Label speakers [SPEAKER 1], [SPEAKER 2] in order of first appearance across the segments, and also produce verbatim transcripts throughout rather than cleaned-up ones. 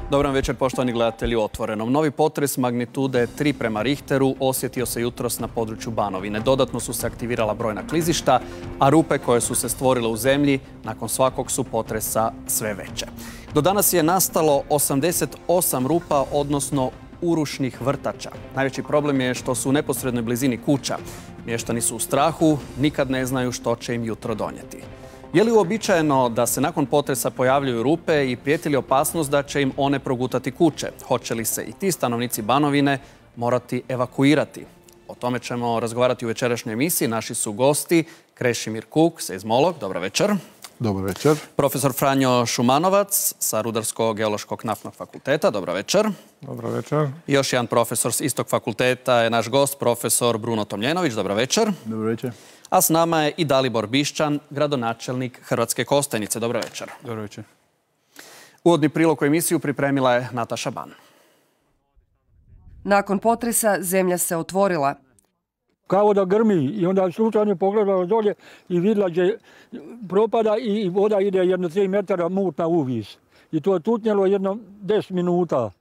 [SPEAKER 1] Dobar večer, poštovani gledatelji u Otvorenom. Novi potres magnitude tri prema Richteru osjetio se jutros na području Banovine. Dodatno su se aktivirala brojna klizišta, a rupe koje su se stvorile u zemlji nakon svakog su potresa sve veće. Do danas je nastalo osamdeset osam rupa, odnosno urušnih vrtača. Najveći problem je što su u neposrednoj blizini kuća. Mještani su u strahu, nikad ne znaju što će im jutro donijeti. Je li uobičajeno da se nakon potresa pojavljuju rupe i prijeti li opasnost da će im one progutati kuće? Hoće li se i ti stanovnici Banovine morati evakuirati? O tome ćemo razgovarati u večerašnjoj emisiji. Naši su gosti Krešimir Kuk, seizmolog. Dobro večer.
[SPEAKER 2] Dobar večer.
[SPEAKER 1] Profesor Franjo Šumanovac sa Rudarsko-geološkog naftnog fakulteta. Dobro večer.
[SPEAKER 2] Dobro večer.
[SPEAKER 1] I još jedan profesor s istog fakulteta je naš gost, profesor Bruno Tomljenović. Dobro večer.
[SPEAKER 2] Dobro večer.
[SPEAKER 1] A s nama je i Dalibor Bišćan, gradonačelnik Hrvatske Kostajnice. Dobro večer.
[SPEAKER 2] Dobro večer.
[SPEAKER 3] Uvodni prilog u emisiju pripremila je Nataša Ban.
[SPEAKER 4] Nakon potresa zemlja se otvorila.
[SPEAKER 5] Kao da grmi i onda slučajno pogledala dolje i vidjela gdje propada i voda ide jedno tri metara mutna uvis. I to je tutnjelo jedno deset minuta.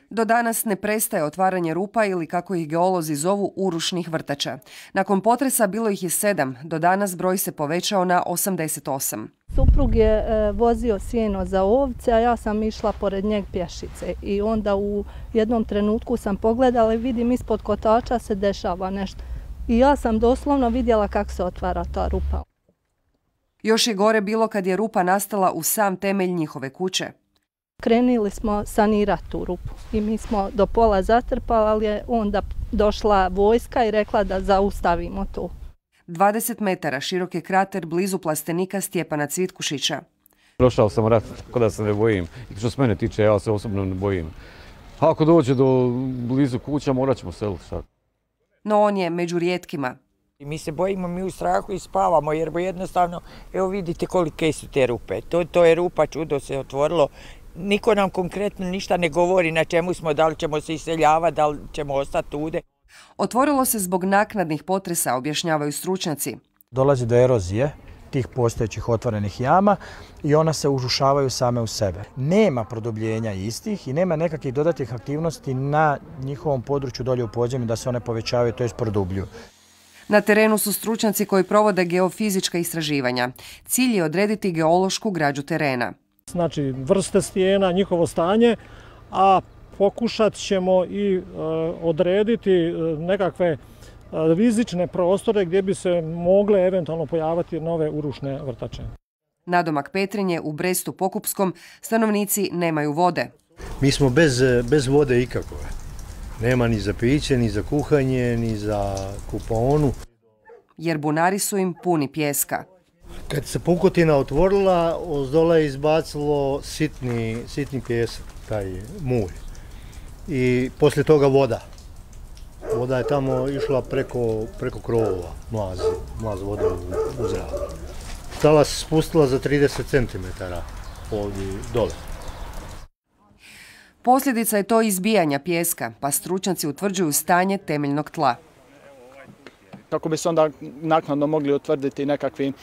[SPEAKER 4] Do danas ne prestaje otvaranje rupa ili, kako ih geolozi zovu, urušnih vrtača. Nakon potresa bilo ih je sedam, do danas broj se povećao na osamdeset osam.
[SPEAKER 6] Suprug je e, vozio sjeno za ovce, a ja sam išla pored njeg pješice. I onda u jednom trenutku sam pogledala i vidim ispod kotača se dešava nešto. I ja sam doslovno vidjela kako se otvara ta rupa.
[SPEAKER 4] Još je gore bilo kad je rupa nastala u sam temelj njihove kuće.
[SPEAKER 6] Krenuli smo sanirati tu rupu i mi smo do pola zatrpali, ali je onda došla vojska i rekla da zaustavimo to.
[SPEAKER 4] dvadeset metara širok je krater blizu plastenika Stjepana Cvitkušića.
[SPEAKER 7] Prošao sam rat, tako da se ne bojim. I što se mene tiče, ja se osobno ne bojim. Ako dođe do blizu kuća, morat ćemo seliti sad.
[SPEAKER 4] No on je među rijetkima.
[SPEAKER 8] Mi se bojimo, mi u strahu i spavamo, jer jednostavno, evo vidite kolike su te rupe. To, to je rupa, čudo se otvorilo. Niko nam konkretno ništa ne govori na čemu smo, da li ćemo se iseljavati, da li ćemo ostati tude.
[SPEAKER 4] Otvorilo se zbog naknadnih potresa, objašnjavaju stručnjaci.
[SPEAKER 9] Dolazi do erozije tih postojećih otvorenih jama i ona se urušavaju same u sebe. Nema produbljenja istih i nema nekakvih dodatnih aktivnosti na njihovom području dolje u podzemlju da se one povećavaju, to jest produbljuju.
[SPEAKER 4] Na terenu su stručnjaci koji provode geofizička istraživanja. Cilj je odrediti geološku građu terena.
[SPEAKER 5] Znači vrste stijena, njihovo stanje, a pokušat ćemo i e, odrediti e, nekakve e, rizične prostore gdje bi se mogle eventualno pojaviti nove urušne vrtače.
[SPEAKER 4] Nadomak Petrinje u Brestu Pokupskom stanovnici nemaju vode.
[SPEAKER 10] Mi smo bez, bez vode ikakove. Nema ni za piće, ni za kuhanje, ni za kupaonu.
[SPEAKER 4] Jer bunari su im puni pijeska.
[SPEAKER 10] Kad se pukotina otvorila, ozdola je izbacilo sitni, sitni pijesak, taj mulj. I poslije toga voda. Voda je tamo išla preko, preko krovova, mlaz, mlaz vode u, u zrak. Tala se spustila za trideset centimetara ovdje dole.
[SPEAKER 4] Posljedica je to izbijanja pijeska, pa stručnjaci utvrđuju stanje temeljnog tla.
[SPEAKER 3] Kako bi se onda naknadno mogli utvrditi nekakvi uh,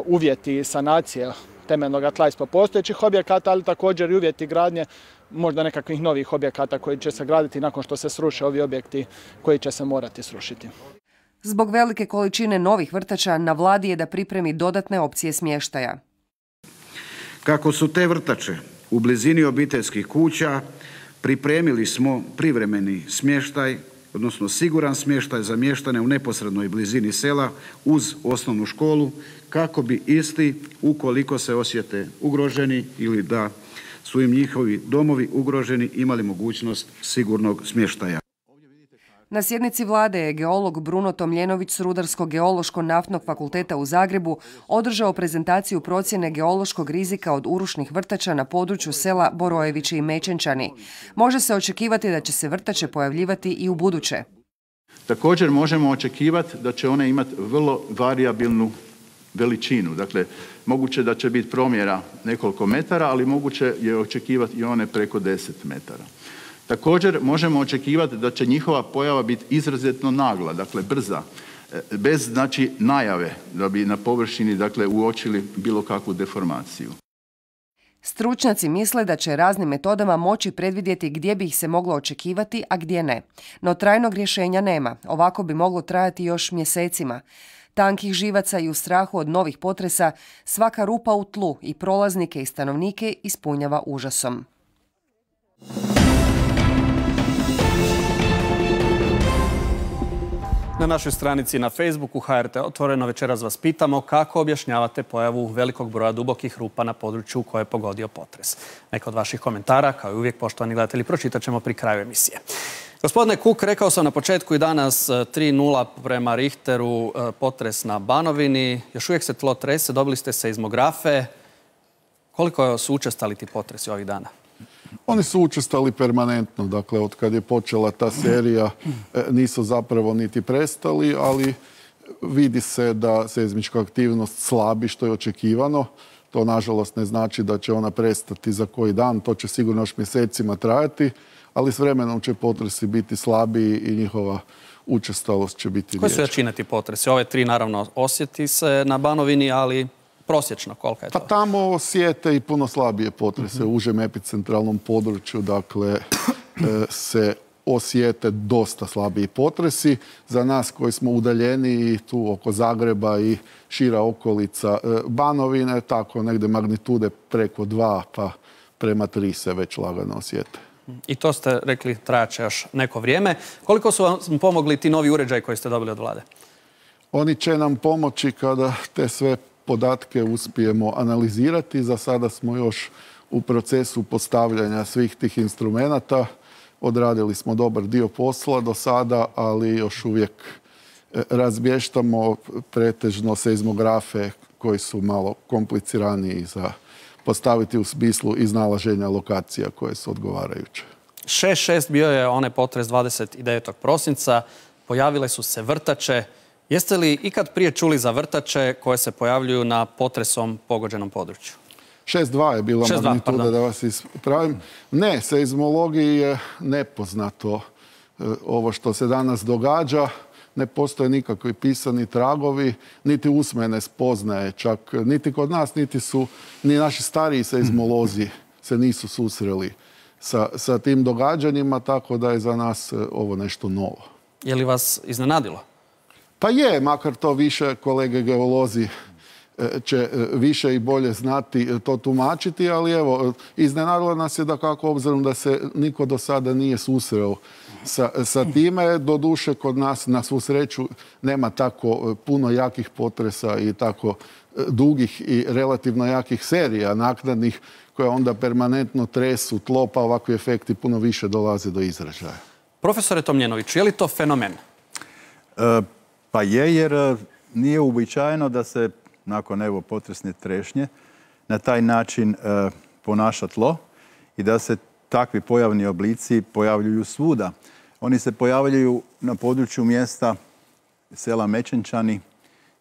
[SPEAKER 3] uvjeti sanacije temeljnog tla ispod postojećih objekata, ali također i uvjeti gradnje možda nekakvih novih objekata koji će se graditi nakon što se sruše ovi objekti koji će se morati srušiti.
[SPEAKER 4] Zbog velike količine novih vrtača na vladi je da pripremi dodatne opcije smještaja.
[SPEAKER 11] Kako su te vrtače u blizini obiteljskih kuća, pripremili smo privremeni smještaj, odnosno siguran smještaj za mještane u neposrednoj blizini sela uz osnovnu školu, kako bi isti, ukoliko se osjete ugroženi ili da su im njihovi domovi ugroženi, imali mogućnost sigurnog smještaja.
[SPEAKER 4] Na sjednici vlade je geolog Bruno Tomljenović s Rudarsko-geološko-naftnog fakulteta u Zagrebu održao prezentaciju procjene geološkog rizika od urušnih vrtača na području sela Borojevići i Mečenčani. Može se očekivati da će se vrtače pojavljivati i u buduće.
[SPEAKER 12] Također možemo očekivati da će one imati vrlo varijabilnu veličinu. Dakle, moguće da će biti promjera nekoliko metara, ali moguće je očekivati i one preko deset metara. Također možemo očekivati da će njihova pojava biti izrazito nagla, dakle brza, bez znači najave da bi na površini dakle uočili bilo kakvu deformaciju.
[SPEAKER 4] Stručnjaci misle da će raznim metodama moći predvidjeti gdje bi ih se moglo očekivati, a gdje ne. No trajnog rješenja nema. Ovako bi moglo trajati još mjesecima. Tankih živaca i u strahu od novih potresa, svaka rupa u tlu i prolaznike i stanovnike ispunjava užasom.
[SPEAKER 1] Na našoj stranici na Facebooku H R T Otvoreno večeras vas pitamo kako objašnjavate pojavu velikog broja dubokih rupa na području koje je pogodio potres. Neka od vaših komentara, kao i uvijek, poštovani gledatelji, pročitat ćemo pri kraju emisije. Gospodine Kuk, rekao sam na početku i danas tri nula prema Richteru, potres na Banovini. Još uvijek se tlo trese, dobili ste seizmografe. Koliko su učestali ti potresi ovih dana?
[SPEAKER 2] Oni su učestali permanentno, dakle, od kad je počela ta serija nisu zapravo niti prestali, ali vidi se da seizmička aktivnost slabi, što je očekivano. To, nažalost, ne znači da će ona prestati za koji dan, to će sigurno još mjesecima trajati, ali s vremenom će potresi biti slabiji i njihova učestalost će biti veća.
[SPEAKER 1] Koje su jačine ti potresi? Ove tri, naravno, osjeti se na Banovini, ali prosječno, kolika je to?
[SPEAKER 2] Pa tamo osjete i puno slabije potrese. U užem epicentralnom području, dakle, se osjete dosta slabiji potresi. Za nas koji smo udaljeni tu oko Zagreba i šira okolica Banovine, tako negdje magnitude preko dva pa prema tri se već lagano osjete.
[SPEAKER 1] I to ste rekli trajaće još neko vrijeme. Koliko su vam pomogli ti novi uređaji koji ste dobili od vlade?
[SPEAKER 2] Oni će nam pomoći kada te sve podatke uspijemo analizirati. Za sada smo još u procesu postavljanja svih tih instrumenata. Odradili smo dobar dio posla do sada, ali još uvijek razbještamo pretežno seizmografe koji su malo kompliciraniji za postaviti u smislu iznalaženja lokacija koje su odgovarajuće.
[SPEAKER 1] šest šest bio je onaj potres dvadeset devetog prosinca. Pojavile su se vrtače. Jeste li ikad prije čuli za vrtače koje se pojavljuju na potresom pogođenom području?
[SPEAKER 2] šest dva je bila magnituda, da vas ispravim. Ne, seizmologiji je nepoznato ovo što se danas događa. Ne postoje nikakvi pisani tragovi, niti usmene spoznaje čak. Niti kod nas, niti su, ni naši stariji seizmolozi se nisu susreli sa, sa tim događanjima, tako da je za nas ovo nešto novo.
[SPEAKER 1] Je li vas iznenadilo?
[SPEAKER 2] Pa je, makar to više kolege geolozi će više i bolje znati to tumačiti, ali evo, iznenadilo nas je da kako obzirom da se niko do sada nije susreo sa, sa time. Doduše, kod nas, na svu sreću, nema tako puno jakih potresa i tako dugih i relativno jakih serija naknadnih koje onda permanentno tresu tlo, pa ovakvi efekti puno više dolaze do izražaja.
[SPEAKER 1] Profesore Tomljenović, je li to fenomen?
[SPEAKER 12] E, pa je, jer nije uobičajeno da se nakon evo potresne trešnje na taj način e, ponaša tlo i da se takvi pojavni oblici pojavljuju svuda. Oni se pojavljuju na području mjesta sela Mečenčani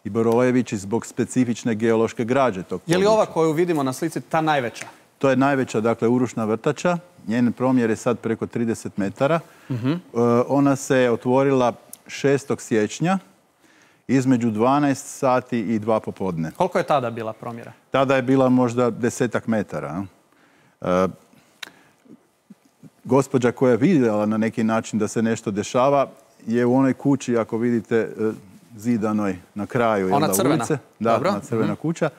[SPEAKER 12] i Borojevići zbog specifične geološke građe tog područja.
[SPEAKER 1] Je li ova koju vidimo na slici ta najveća?
[SPEAKER 12] To je najveća, dakle, urušna vrtača. Njen promjer je sad preko trideset metara. Uh-huh. e, ona se otvorila šestog siječnja između dvanaest sati i dva popodne.
[SPEAKER 1] Koliko je tada bila promjera?
[SPEAKER 12] Tada je bila možda desetak metara. E, gospođa koja je vidjela na neki način da se nešto dešava je u onoj kući, ako vidite, zidanoj na kraju
[SPEAKER 1] ona crvena.
[SPEAKER 12] Ulice. Da,
[SPEAKER 1] Dobro.
[SPEAKER 12] ona crvena
[SPEAKER 1] Mm-hmm.
[SPEAKER 12] kuća.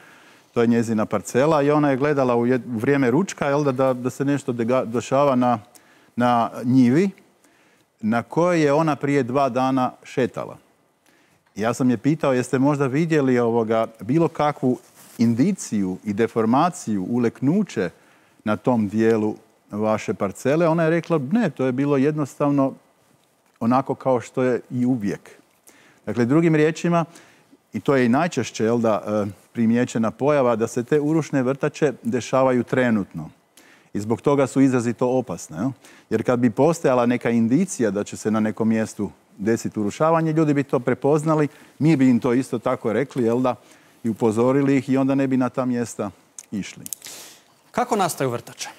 [SPEAKER 12] To je njezina parcela i ona je gledala u, jed, u vrijeme ručka jel, da, da, da se nešto dega, dešava na, na njivi na kojoj je ona prije dva dana šetala. Ja sam je pitao, jeste možda vidjeli ovoga, bilo kakvu indiciju i deformaciju, uleknuće na tom dijelu vaše parcele? Ona je rekla, ne, to je bilo jednostavno onako kao što je i uvijek. Dakle, drugim riječima, i to je i najčešće jel da, primijećena pojava, da se te urušne vrtače dešavaju trenutno. I zbog toga su izrazito opasne. Jel? Jer kad bi postojala neka indicija da će se na nekom mjestu desiti urušavanje, ljudi bi to prepoznali, mi bi im to isto tako rekli, jel da, i upozorili ih i onda ne bi na ta mjesta išli.
[SPEAKER 1] Kako nastaju vrtače?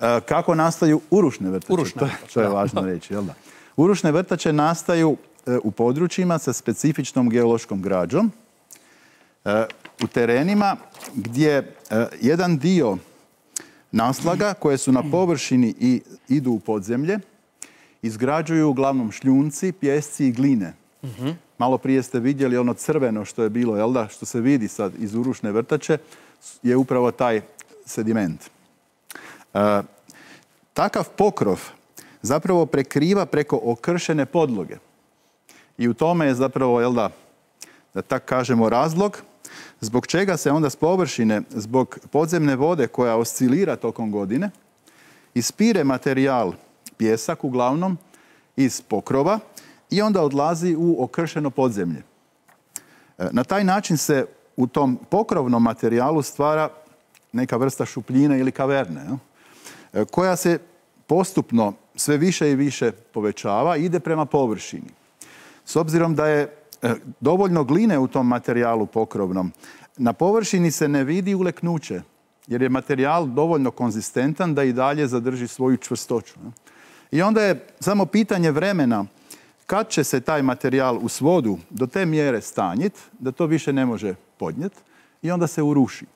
[SPEAKER 12] E, kako nastaju urušne vrtače?
[SPEAKER 1] Urušne
[SPEAKER 12] to,
[SPEAKER 1] vrtače,
[SPEAKER 12] to je
[SPEAKER 1] da.
[SPEAKER 12] važno reći, jel da? Urušne vrtače nastaju e, u područjima sa specifičnom geološkom građom, e, u terenima gdje e, jedan dio naslaga koje su na površini i idu u podzemlje, izgrađuju uglavnom šljunci, pjesci i gline. Malo prije ste vidjeli ono crveno što je bilo, jel da, što se vidi sad iz urušne vrtače, je upravo taj sediment. E, takav pokrov zapravo prekriva preko okršene podloge. I u tome je zapravo, jel da, da tak kažemo, razlog zbog čega se onda s površine, zbog podzemne vode koja oscilira tokom godine, ispire materijal, pjesak uglavnom, iz pokrova i onda odlazi u okršeno podzemlje. Na taj način se u tom pokrovnom materijalu stvara neka vrsta šupljine ili kaverne, koja se postupno sve više i više povećava i ide prema površini. S obzirom da je dovoljno gline u tom materijalu pokrovnom, na površini se ne vidi uleknuće, jer je materijal dovoljno konzistentan da i dalje zadrži svoju čvrstoću. I onda je samo pitanje vremena kad će se taj materijal u svodu do te mjere stanjiti da to više ne može podnijeti i onda se uruši.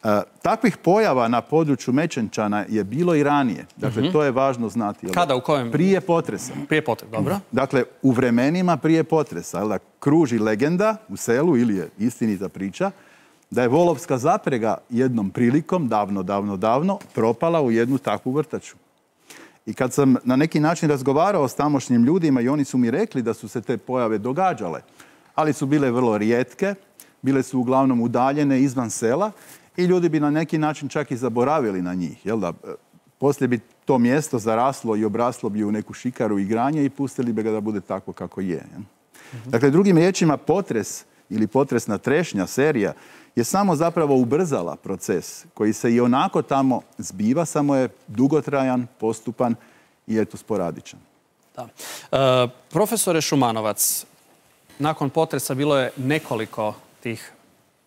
[SPEAKER 12] E, takvih pojava na području Mečenčana je bilo i ranije. Dakle, mm-hmm. to je važno znati. Jel?
[SPEAKER 1] Kada, u kojem?
[SPEAKER 12] Prije potresa.
[SPEAKER 1] Prije potresa, dobro.
[SPEAKER 12] Dakle, u vremenima prije potresa. Jel da, kruži legenda u selu, ili je istinita priča, da je volovska zaprega jednom prilikom, davno, davno, davno, propala u jednu takvu vrtaču. I kad sam na neki način razgovarao s tamošnjim ljudima i oni su mi rekli da su se te pojave događale, ali su bile vrlo rijetke, bile su uglavnom udaljene izvan sela i ljudi bi na neki način čak i zaboravili na njih. Jel da? Poslije bi to mjesto zaraslo i obraslo bi u neku šikaru igranja i pustili bi ga da bude tako kako je. Mm-hmm. Dakle, drugim riječima, potres ili potresna trešnja, serija, je samo zapravo ubrzala proces koji se i onako tamo zbiva, samo je dugotrajan, postupan i eto sporadičan.
[SPEAKER 1] Da. E, profesore Šumanovac, nakon potresa bilo je nekoliko tih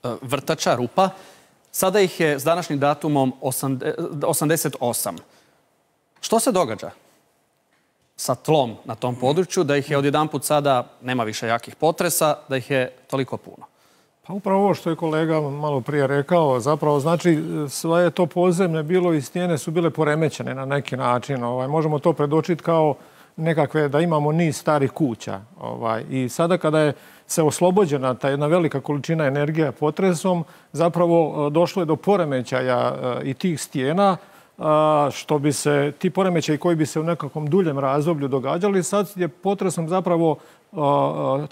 [SPEAKER 1] e, vrtača, rupa. Sada ih je s današnjim datumom osamdeset osam. Što se događa sa tlom na tom području, da ih je odjedanput sada, nema više jakih potresa, da ih je toliko puno?
[SPEAKER 5] Pa upravo ovo što je kolega malo prije rekao, zapravo znači sve je to podzemlje bilo i stijene su bile poremećene na neki način. Ovaj, možemo to predočiti kao nekakve, da imamo niz starih kuća. Ovaj, i sada kada je se oslobođena ta jedna velika količina energije potresom, zapravo došlo je do poremećaja i tih stijena, što bi se, ti poremećaji koji bi se u nekakvom duljem razdoblju događali, sad je potresom zapravo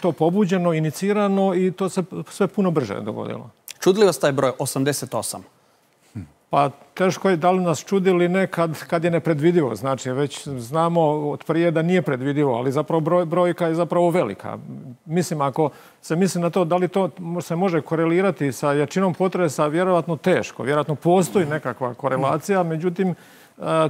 [SPEAKER 5] to pobuđeno, inicirano i to se sve puno brže dogodilo.
[SPEAKER 1] Čudi li vas taj broj osamdeset osam?
[SPEAKER 5] Pa teško je da li nas čudi ili ne kad, kad je nepredvidivo. Znači, već znamo od prije da nije predvidivo, ali zapravo broj, brojka je zapravo velika. Mislim, ako se misli na to da li to se može korelirati sa jačinom potresa, vjerojatno teško. Vjerojatno postoji nekakva korelacija, međutim,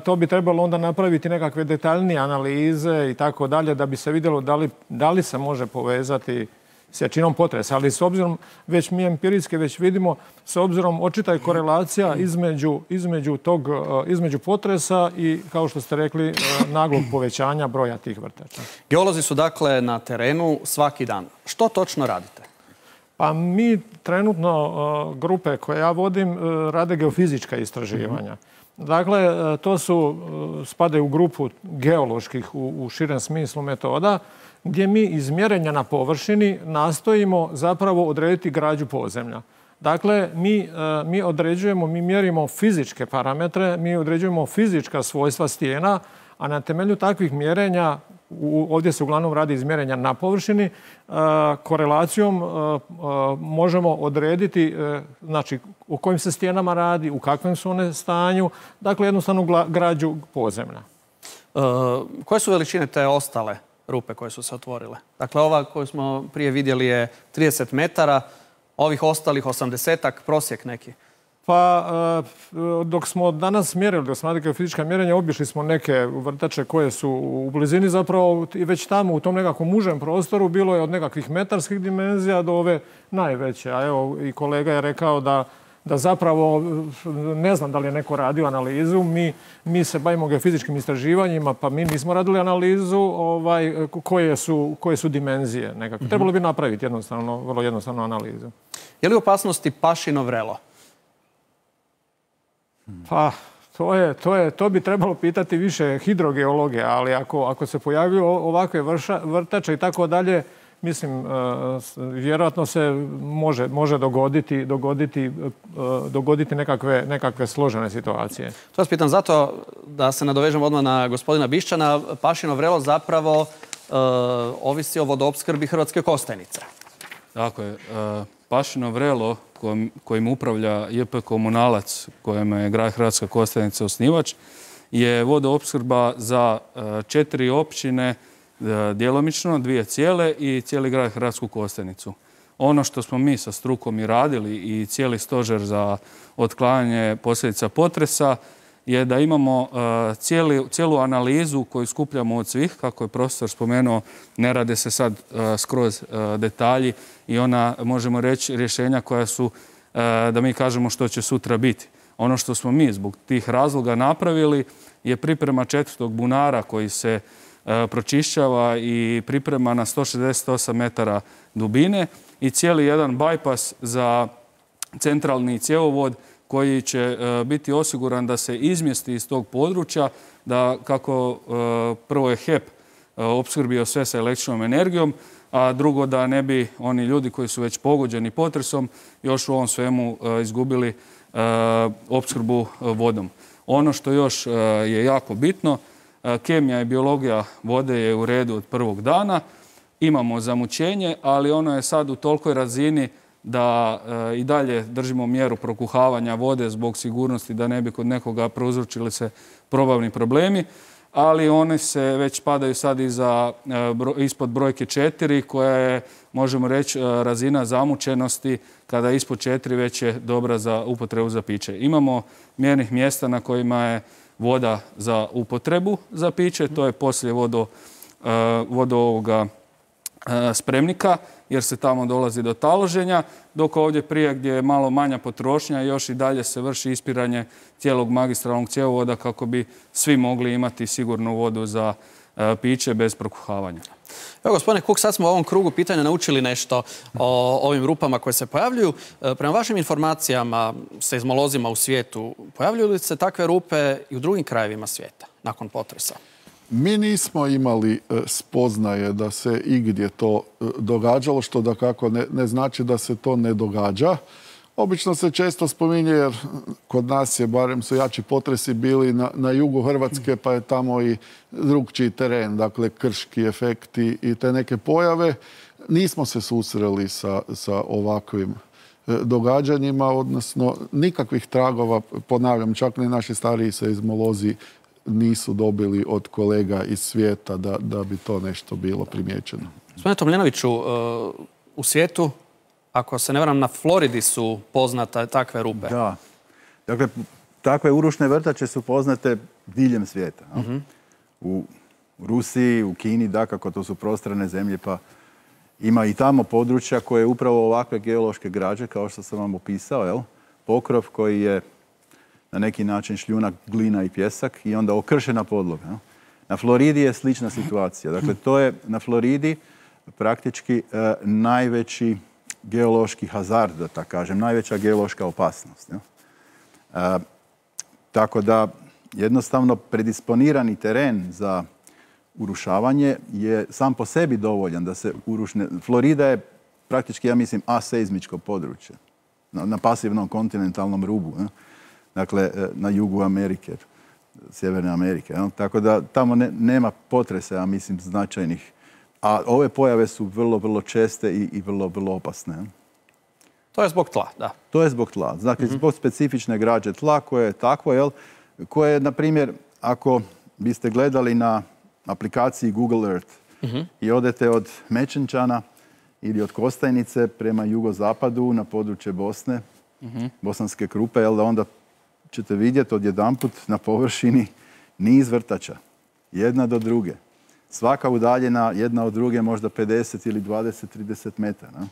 [SPEAKER 5] to bi trebalo onda napraviti nekakve detaljnije analize i tako dalje da bi se vidjelo da li, da li se može povezati s jačinom potresa. Ali s obzirom, već mi empirijski već vidimo, s obzirom očita je korelacija između, između, tog, između potresa i, kao što ste rekli, naglog povećanja broja tih vrtača.
[SPEAKER 1] Geolozi su dakle na terenu svaki dan. Što točno radite?
[SPEAKER 5] Pa mi trenutno, grupe koje ja vodim, rade geofizička istraživanja. Dakle, to su, spadaju u grupu geoloških u, u širem smislu metoda, gdje mi iz mjerenja na površini nastojimo zapravo odrediti građu podzemlja. Dakle, mi, mi određujemo, mi mjerimo fizičke parametre, mi određujemo fizička svojstva stijena, a na temelju takvih mjerenja, ovdje se uglavnom radi iz mjerenja na površini, korelacijom možemo odrediti znači, u kojim se stijenama radi, u kakvim su one stanju, dakle jednostavno građu podzemlja.
[SPEAKER 1] E, koje su veličine te ostale rupe koje su se otvorile? Dakle, ova koju smo prije vidjeli je trideset metara, ovih ostalih osamdesetak, prosjek neki.
[SPEAKER 5] Pa, dok smo danas mjerili, dok smo radili geofizička mjerenja, obišli smo neke vrtače koje su u blizini zapravo i već tamo u tom nekakvom užem prostoru bilo je od nekakvih metarskih dimenzija do ove najveće. A evo i kolega je rekao da, da zapravo, ne znam da li je neko radio analizu, mi, mi se bavimo geofizičkim istraživanjima, pa mi nismo radili analizu ovaj, koje, su, koje su dimenzije nekako. Trebalo bi napraviti jednostavno, vrlo jednostavnu analizu.
[SPEAKER 1] Je li u opasnosti pašino vrelo?
[SPEAKER 5] Pa, To, je, to, je, to bi trebalo pitati više hidrogeologe, ali ako, ako se pojavio ovakve vrša, vrtače i tako dalje, mislim, vjerojatno se može, može dogoditi, dogoditi, dogoditi nekakve, nekakve složene situacije.
[SPEAKER 1] To vas pitam zato da se nadovežem odmah na gospodina Bišćana. Pašino vrelo zapravo uh, ovisi o vodoopskrbi Hrvatske Kostajnice.
[SPEAKER 13] Tako je. Pašino vrelo kojim, kojim upravlja J P Komunalac, kojem je grad Hrvatska Kostajnica osnivač, je vodoopskrba za četiri općine djelomično, dvije cijele i cijeli grad Hrvatsku Kostajnicu. Ono što smo mi sa strukom i radili i cijeli stožer za otklanjanje posljedica potresa je da imamo cijeli, cijelu analizu koju skupljamo od svih, kako je profesor spomenuo, ne rade se sad skroz detalji i ona, možemo reći, rješenja koja su, da mi kažemo što će sutra biti. Ono što smo mi zbog tih razloga napravili je priprema četvrtog bunara koji se pročišćava i priprema na sto šezdeset osam metara dubine i cijeli jedan bajpas za centralni cjevovod koji će biti osiguran da se izmjesti iz tog područja, da kako prvo je H E P opskrbio sve sa električnom energijom, a drugo da ne bi oni ljudi koji su već pogođeni potresom još u ovom svemu izgubili opskrbu vodom. Ono što još je jako bitno, kemija i biologija vode je u redu od prvog dana, imamo zamućenje, ali ono je sad u tolikoj razini da e, i dalje držimo mjeru prokuhavanja vode zbog sigurnosti da ne bi kod nekoga prouzročili se probavni problemi, ali one se već padaju sad iza, e, bro, ispod brojke četiri koja je, možemo reći, e, razina zamućenosti kada je ispod četiri već je dobra za upotrebu za piće. Imamo mjernih mjesta na kojima je voda za upotrebu za piće, to je poslije vodo, e, vodo ovoga e, spremnika, jer se tamo dolazi do taloženja, dok ovdje prije gdje je malo manja potrošnja još i dalje se vrši ispiranje cijelog magistralnog cjevovoda kako bi svi mogli imati sigurnu vodu za e, piće bez prokuhavanja.
[SPEAKER 1] Evo, gospodine Kuk, sad smo u ovom krugu pitanja naučili nešto o ovim rupama koje se pojavljuju. E, prema vašim informacijama, seizmolozima u svijetu, pojavljuju li se takve rupe i u drugim krajevima svijeta nakon potresa?
[SPEAKER 2] Mi nismo imali spoznaje da se igdje to događalo, što da kako ne, ne znači da se to ne događa. Obično se često spominje, jer kod nas je, barem su jači potresi bili na, na jugu Hrvatske, pa je tamo i drugčiji teren, dakle krški efekti i te neke pojave. Nismo se susreli sa, sa ovakvim događanjima, odnosno nikakvih tragova, ponavljam, čak ni naši stariji seizmolozi nisu dobili od kolega iz svijeta da, da bi to nešto bilo primijećeno.
[SPEAKER 1] Gospodine Tomljenoviću, u svijetu, ako se ne varam, na Floridi su poznate takve rupe.
[SPEAKER 12] Da. Dakle, takve urušne vrtače su poznate diljem svijeta. Uh-huh. U Rusiji, u Kini, dakako, to su prostrane zemlje, pa ima i tamo područja koje upravo ovakve geološke građe, kao što sam vam opisao, jel? Pokrov koji je na neki način šljunak, glina i pjesak i onda okršena podloga. No? Na Floridi je slična situacija. Dakle, to je na Floridi praktički e, najveći geološki hazard, da tako kažem, najveća geološka opasnost. No? E, tako da jednostavno predisponirani teren za urušavanje je sam po sebi dovoljan da se urušne. Florida je praktički, ja mislim, aseizmičko područje na, na pasivnom kontinentalnom rubu. No? Dakle, na jugu Amerike, Sjeverne Amerike. No? Tako da tamo ne, nema potresa, ja mislim, značajnih. A ove pojave su vrlo, vrlo česte i, i vrlo, vrlo opasne. No?
[SPEAKER 1] To je zbog tla, da.
[SPEAKER 12] To je zbog tla. Dakle, mm-hmm. zbog specifične građe tla koje je takvo, jel? Koje, na primjer, ako biste gledali na aplikaciji Google Earth mm-hmm. i odete od Mečenčana ili od Kostajnice prema jugozapadu na područje Bosne, mm-hmm. Bosanske Krupe, jel da onda ćete vidjeti odjedanput na površini niz vrtača, jedna do druge. Svaka udaljena jedna od druge možda pedeset ili dvadeset do trideset metara. No?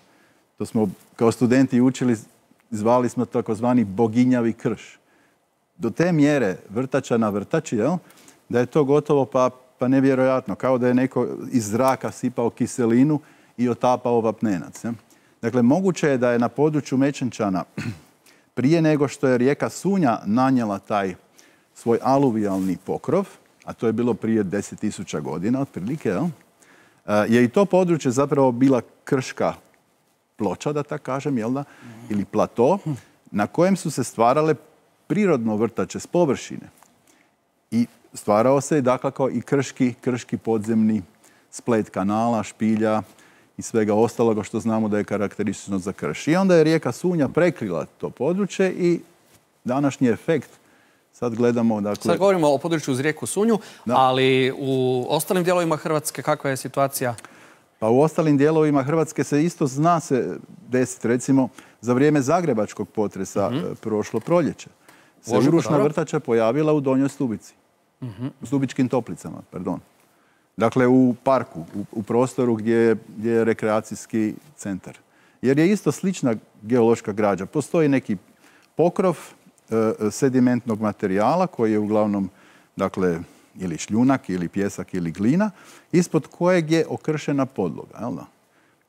[SPEAKER 12] To smo kao studenti učili, zvali smo takozvani boginjavi krš. Do te mjere vrtača na vrtači, jel? Da je to gotovo pa, pa nevjerojatno, kao da je neko iz zraka sipao kiselinu i otapao vapnenac. Jel? Dakle, moguće je da je na području Mečenčana prije nego što je rijeka Sunja nanijela taj svoj aluvijalni pokrov, a to je bilo prije deset tisuća godina otprilike, jel? Je i to područje zapravo bila krška ploča, da tako kažem, jel da? Ili plato, na kojem su se stvarale prirodno vrtače s površine. I stvarao se, dakako, i krški, krški podzemni splet kanala, špilja i svega ostaloga što znamo da je karakteristično za krš. I onda je rijeka Sunja prekrila to područje i današnji efekt, sad gledamo... Dakle...
[SPEAKER 1] Sad govorimo o području uz rijeku Sunju, da. Ali u ostalim dijelovima Hrvatske kakva je situacija?
[SPEAKER 12] Pa u ostalim dijelovima Hrvatske se isto zna se desiti, recimo, za vrijeme zagrebačkog potresa mm-hmm. prošlo proljeće. Se
[SPEAKER 1] Ožujku,
[SPEAKER 12] urušna
[SPEAKER 1] dobro.
[SPEAKER 12] vrtača pojavila u Donjoj Stubici. Mm-hmm. U Stubičkim toplicama, pardon. Dakle, u parku, u, u prostoru gdje je, gdje je rekreacijski centar. Jer je isto slična geološka građa. Postoji neki pokrov e, sedimentnog materijala koji je uglavnom, dakle, ili šljunak, ili pjesak, ili glina, ispod kojeg je okršena podloga. Jel da?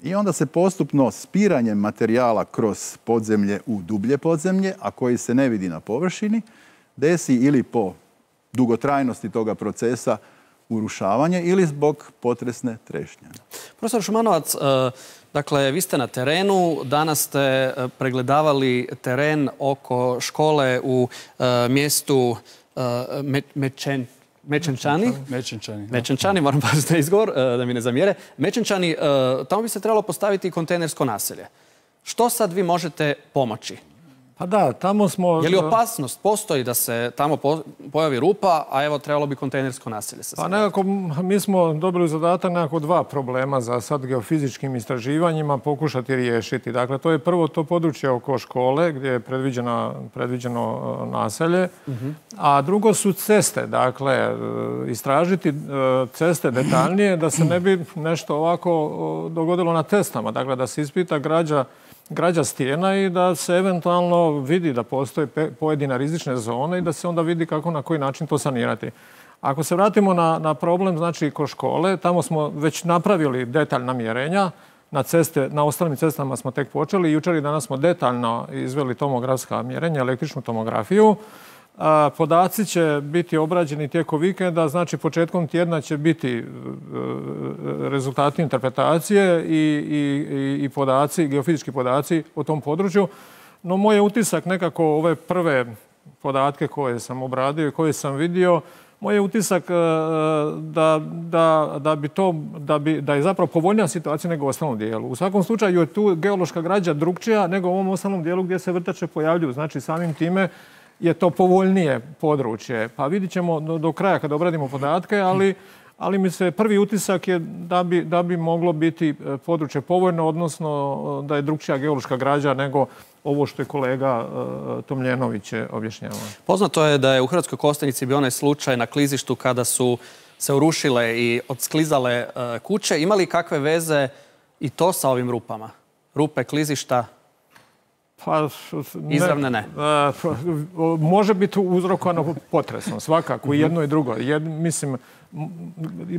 [SPEAKER 12] I onda se postupno spiranjem materijala kroz podzemlje u dublje podzemlje, a koji se ne vidi na površini, desi ili po dugotrajnosti toga procesa urušavanje ili zbog potresne trešnje.
[SPEAKER 1] Profesor Šumanovac, dakle, vi ste na terenu, danas ste pregledavali teren oko škole u mjestu Mečen. Mečenčani.
[SPEAKER 13] Mečenčani.
[SPEAKER 1] Mečenčani, moram paziti na izgovor, da mi ne zamjere. Mečenčani, tamo bi se trebalo postaviti kontejnersko naselje. Što sad vi možete pomoći?
[SPEAKER 5] Pa da, tamo smo...
[SPEAKER 1] Je li opasnost postoji da se tamo pojavi rupa, a evo trebalo bi kontejnersko naselje?
[SPEAKER 5] Pa nekako, mi smo dobili zadatak nekako dva problema za sad geofizičkim istraživanjima pokušati riješiti. Dakle, to je prvo to područje oko škole gdje je predviđeno, predviđeno naselje, uh-huh. a drugo su ceste. Dakle, istražiti ceste detaljnije da se ne bi nešto ovako dogodilo na testama. Dakle, da se ispita građa građa stijena i da se eventualno vidi da postoje pojedine rizične zone i da se onda vidi kako na koji način to sanirati. Ako se vratimo na, na problem, znači kod škole, tamo smo već napravili detaljna mjerenja, na, ceste, na ostalim cestama smo tek počeli. Jučer i danas smo detaljno izveli tomografska mjerenja, električnu tomografiju. A, podaci će biti obrađeni tijekom vikenda, znači početkom tjedna će biti e, rezultati interpretacije i, i, i podaci, geofizički podaci o tom području. No moj je utisak nekako ove prve podatke koje sam obradio i koje sam vidio, moj je utisak e, da, da, da, bi to, da, bi, da je zapravo povoljnija situacija nego u ostalom dijelu. U svakom slučaju je tu geološka građa drukčija nego u ovom ostalom dijelu gdje se vrtače pojavljuju. Znači samim time je to povoljnije područje. Pa vidit ćemo do, do kraja kad obradimo podatke, ali, ali mi se prvi utisak je da bi, da bi moglo biti područje povoljno, odnosno da je drukčija geološka građa nego ovo što je kolega uh, Tomljenović objašnjavao.
[SPEAKER 1] Poznato je da je u Hrvatskoj Kostajnici bio onaj slučaj na klizištu kada su se urušile i odsklizale uh, kuće. Ima li kakve veze i to sa ovim rupama? Rupe, klizišta?
[SPEAKER 5] Pa,
[SPEAKER 1] ne, Izravne ne.
[SPEAKER 5] A, može biti uzrokovano potresom, svakako, i jedno i drugo. Jed, mislim,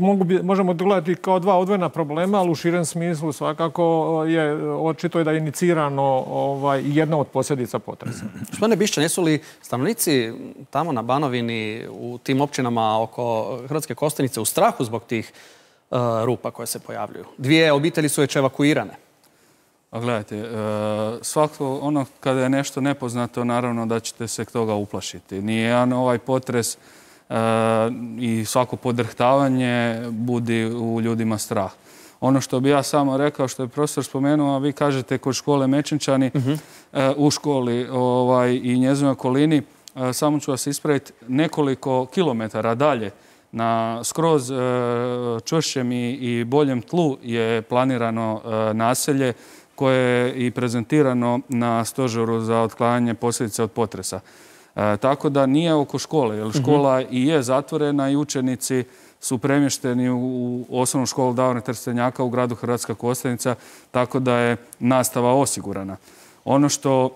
[SPEAKER 5] mogu bi, možemo gledati kao dva odvojena problema, ali u širem smislu svakako je očito je da je inicirano ovaj, jedna od posljedica potresa.
[SPEAKER 1] Gospodine Bišćan, jesu li stanovnici tamo na Banovini, u tim općinama oko Hrvatske Kostajnice u strahu zbog tih uh, rupa koje se pojavljuju? Dvije obitelji su već evakuirane.
[SPEAKER 13] A gledajte, svako ono kada je nešto nepoznato, naravno da ćete se toga uplašiti. Nijedan ovaj potres i svako podrhtavanje budi u ljudima strah. Ono što bi ja samo rekao, što je profesor spomenuo, a vi kažete kod škole Mečenčani, uh-huh. u školi ovaj, i njezinoj okolini, samo ću vas ispraviti, nekoliko kilometara dalje na skroz čvršćem i, i boljem tlu je planirano naselje koje je i prezentirano na stožeru za otklanjanje posljedica od potresa. E, tako da nije oko škole, jer škola uh-huh. i je zatvorena i učenici su premješteni u, u osnovnu školu Davora Trstenjaka u gradu Hrvatska Kostajnica, tako da je nastava osigurana. Ono što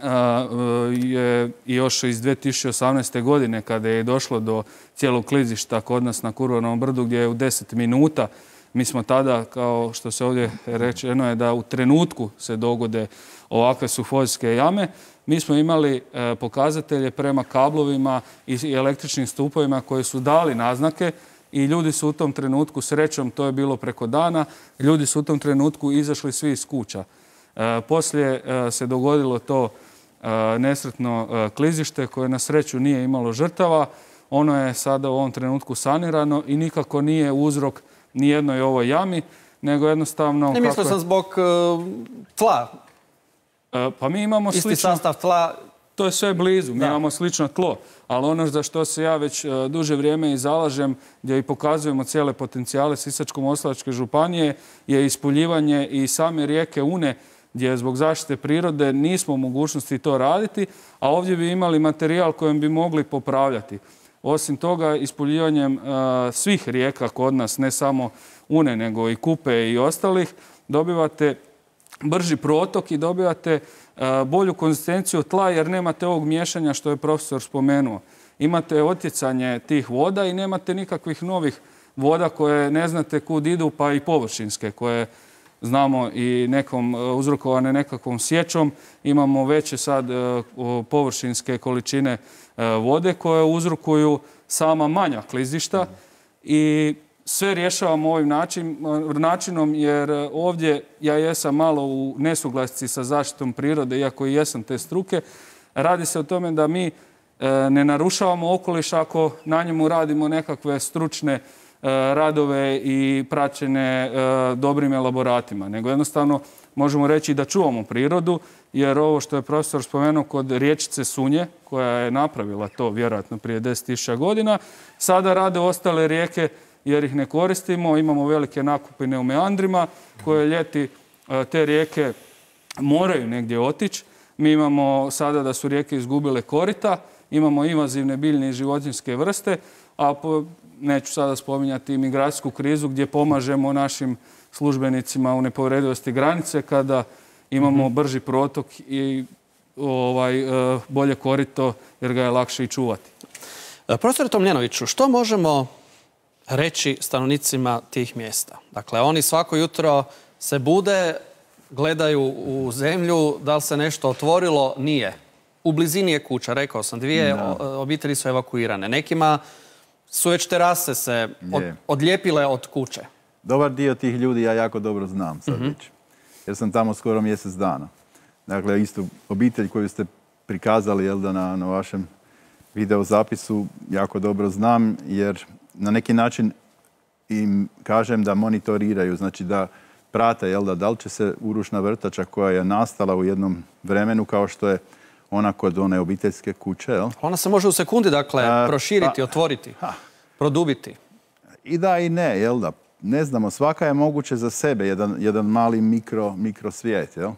[SPEAKER 13] a, je još iz dvije tisuće osamnaeste. godine, kada je došlo do cijelog klizišta kod nas na Kurvanovom brdu, gdje je u deset minuta Mi smo tada, kao što se ovdje rečeno je da u trenutku se dogode ovakve sufozijske jame, mi smo imali pokazatelje prema kablovima i električnim stupovima koji su dali naznake i ljudi su u tom trenutku, srećom, to je bilo preko dana, ljudi su u tom trenutku izašli svi iz kuća. Poslije se dogodilo to nesretno klizište koje na sreću nije imalo žrtava. Ono je sada u ovom trenutku sanirano i nikako nije uzrok ni jednoj ovoj jami, nego jednostavno...
[SPEAKER 1] Ne mislio sam zbog tla.
[SPEAKER 13] Pa mi imamo slično...
[SPEAKER 1] Isti sastav tla.
[SPEAKER 13] To je sve blizu, mi imamo slično tlo. Ali ono za što se ja već duže vrijeme i zalažem, gdje i pokazujemo cijele potencijale Sisačko-moslavačke županije, je ispuljivanje i same rijeke Une, gdje zbog zaštite prirode nismo u mogućnosti to raditi, a ovdje bi imali materijal kojem bi mogli popravljati. Osim toga, ispuljivanjem svih rijeka kod nas, ne samo Une, nego i Kupe i ostalih, dobivate brži protok i dobivate bolju konzistenciju tla jer nemate ovog miješanja što je profesor spomenuo. Imate otjecanje tih voda i nemate nikakvih novih voda koje ne znate kud idu, pa i površinske koje znamo i nekom uzrokovane nekakvom sjećom. Imamo veće sad površinske količine vode koje uzrokuju sama manja klizišta i sve rješavamo ovim načinom jer ovdje ja jesam malo u nesuglasci sa zaštitom prirode, iako i jesam te struke. Radi se o tome da mi ne narušavamo okoliš ako na njemu radimo nekakve stručne radove i praćene dobrim elaboratima, nego jednostavno možemo reći da čuvamo prirodu, jer ovo što je profesor spomenuo kod riječice Sunje, koja je napravila to vjerojatno prije deset tisuća godina, sada rade ostale rijeke jer ih ne koristimo, imamo velike nakupine u meandrima koje ljeti te rijeke moraju negdje otići. Mi imamo sada da su rijeke izgubile korita, imamo invazivne biljne i životinjske vrste, a po, neću sada spominjati migracijsku krizu gdje pomažemo našim službenicima u nepovredivosti granice kada imamo brži protok i ovaj, bolje korito jer ga je lakše i čuvati.
[SPEAKER 1] Profesor Tomljenoviću, što možemo reći stanovnicima tih mjesta? Dakle, oni svako jutro se bude, gledaju u zemlju, da li se nešto otvorilo? Nije. U blizini je kuća, rekao sam, dvije obitelji su evakuirane. Nekima su već terase se od, odlijepile od kuće.
[SPEAKER 14] Dobar dio tih ljudi ja jako dobro znam sad već. Jer sam tamo skoro mjesec dana. Dakle, isto obitelj koju ste prikazali jel da, na, na vašem videozapisu jako dobro znam, jer na neki način im kažem da monitoriraju, znači da prate jel da, da li će se urušna vrtača koja je nastala u jednom vremenu kao što je ona kod one obiteljske kuće. Jel?
[SPEAKER 1] Ona se može u sekundi, dakle, A, proširiti, pa, otvoriti, ha. produbiti.
[SPEAKER 14] I da i ne, jel da? Ne znamo, svaka je moguće za sebe, jedan, jedan mali mikro, mikrosvijet. Jel?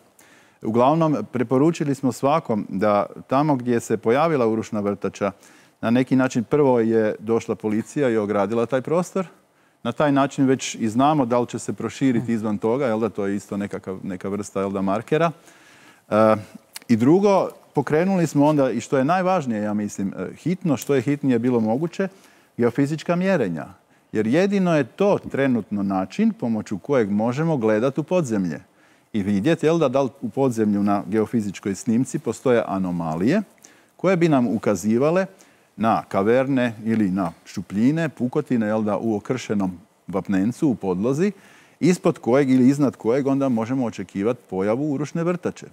[SPEAKER 14] Uglavnom, preporučili smo svakom da tamo gdje se pojavila urušna vrtača, na neki način prvo je došla policija i ogradila taj prostor. Na taj način već i znamo da li će se proširiti izvan toga, jel da, to je isto nekakav, neka vrsta jel da, markera. E, I drugo, pokrenuli smo onda, i što je najvažnije, ja mislim, hitno, što je hitnije bilo moguće, geofizička mjerenja. Jer jedino je to trenutno način pomoću kojeg možemo gledati u podzemlje i vidjeti jel da, da li u podzemlju na geofizičkoj snimci postoje anomalije koje bi nam ukazivale na kaverne ili na šupljine, pukotine jel da, u okršenom vapnencu u podlozi, ispod kojeg ili iznad kojeg onda možemo očekivati pojavu urušne vrtače.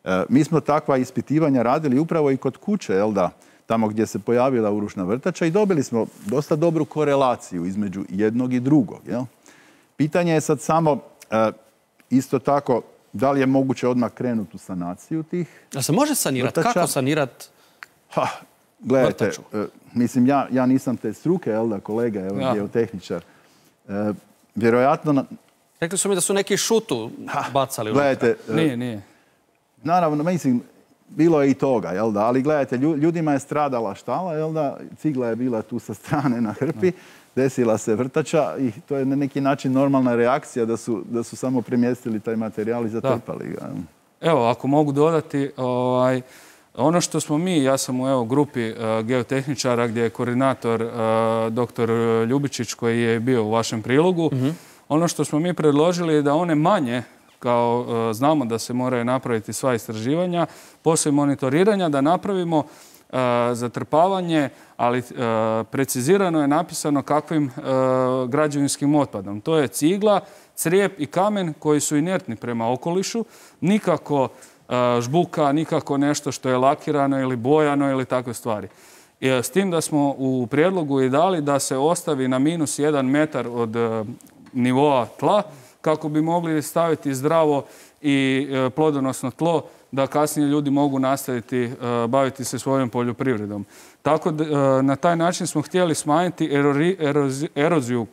[SPEAKER 14] E, mi smo takva ispitivanja radili upravo i kod kuće, jel da, tamo gdje se pojavila urušna vrtača i dobili smo dosta dobru korelaciju između jednog i drugog. Jel? Pitanje je sad samo e, isto tako da li je moguće odmah krenuti u sanaciju tih
[SPEAKER 1] Da se može sanirati?
[SPEAKER 14] vrtača.
[SPEAKER 1] Kako sanirati
[SPEAKER 14] Gledajte,
[SPEAKER 1] vrtaču?
[SPEAKER 14] e, mislim, ja, ja nisam te struke, jel da, kolega, evo,
[SPEAKER 1] Ja.
[SPEAKER 14] geotehničar. E, vjerojatno... Na...
[SPEAKER 1] Rekli su mi da su neki šutu bacali unutra.
[SPEAKER 14] Gledajte, e,
[SPEAKER 13] Nije, nije.
[SPEAKER 14] naravno, mislim, bilo je i toga, jel da, ali gledajte, lju- ljudima je stradala štala, jel da, cigla je bila tu sa strane na hrpi, desila se vrtača i to je na neki način normalna reakcija da su, da su samo premjestili taj materijal i zatrpali ga. jel?
[SPEAKER 13] Evo, ako mogu dodati, ovaj, ono što smo mi, ja sam u evo, grupi uh, geotehničara gdje je koordinator uh, doktor Ljubičić koji je bio u vašem prilogu, Ono što smo mi predložili je da one manje, kao znamo da se moraju napraviti sva istraživanja, poslije monitoriranja da napravimo zatrpavanje, ali precizirano je napisano kakvim građevinskim otpadom. To je cigla, crijep i kamen koji su inertni prema okolišu, nikako žbuka, nikako nešto što je lakirano ili bojano ili takve stvari. S tim da smo u prijedlogu i dali da se ostavi na minus jedan metar od nivoa tla kako bi mogli staviti zdravo i plodonosno tlo da kasnije ljudi mogu nastaviti baviti se svojom poljoprivredom. Tako da na taj način smo htjeli smanjiti eroziju